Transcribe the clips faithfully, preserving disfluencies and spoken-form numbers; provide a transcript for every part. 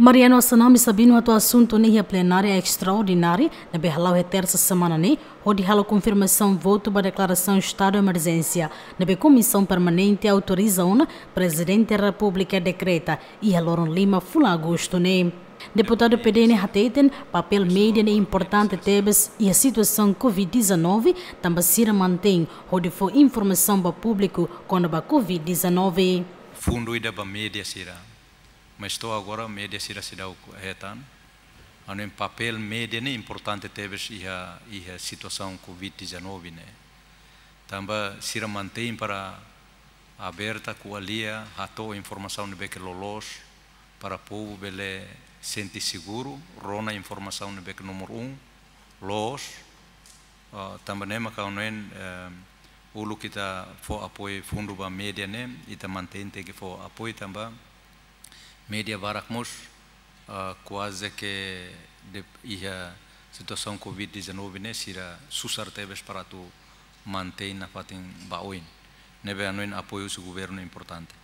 Mariano Assanami Sabino hato'o asuntu ne'e iha plenária estraordinária ne'ebé hala'o iha tersa semana ne'e, hodi halo konfirmasaun votu ba deklarasaun estadu emerjénsia ne'ebé Komisaun Permanente autoriza ona Prezidente Repúblika dekreta iha loron lima fulan Agostu ne'e. Deputadu P D ne'e hateten papél média ne'e importante tebes iha situasaun covid dezanove, tanba sira mantein hodi fó informasaun ba públiku kona-ba covid dezanove. Fundu ida ba média sira. Mas to'o agora média sira seidauk hetan. Hanoin papél média ne'e importante tebes iha, iha situasaun covid dezanove ne'e. Tanba sira mantein para aberta, ko'alia, hato'o informasaun ne'ebé ke loloos para povu bele sente seguru, rona informasaun ne'ebé ke númeru um, loos, ah, tanba ne'e mak ha'u hanoin, eh, uluk ita fó apoiu fundu ba média ne'e, ita mantein tenke fó apoiu tanba média barak mós, ah, kuaze ke de, iha situasaun covid dezanove ne'e sira susar tebes para atu mantein nafatin ba oin. Ne'ebé hanoin apoiu husi governu importante.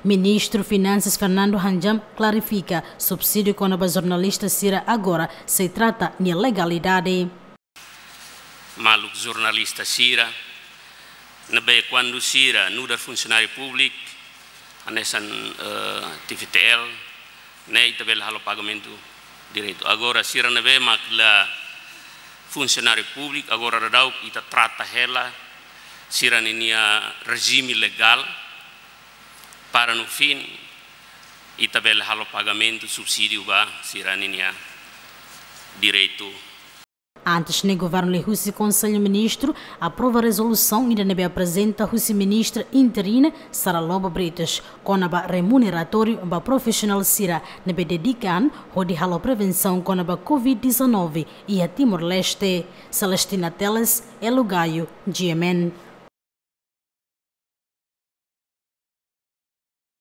Ministru Finansas Fernando Hanjam klarifika subsídiu kona-ba jornalista sira agora sei trata nia legalidade. Maluk jornalista sira, ne'ebé kuandu sira nu'udar funsionáriu públiku, hanesan, eh, T V T L, ne'e ita bele halo pagamentu diretu. Agora sira ne'ebé mak la funsionáriu públiku, agora daudaun ita trata hela sira-ninia rejime legál, para no fim ita bele halo pagamentu subsídiu ba sira-ninia direitu. Antes ne'e governu liuhusi Konsellu Ministru aprova rezolusaun ida ne'ebé aprezenta husi ministra interina Sara Lobo Britos kona-ba remuneratóriu ba profisionál sira ne'ebé dedika an hodi halo prevensaun kona-ba covid dezanove iha Timor-Leste. Celestina Teles, Elo Gayo, G M N.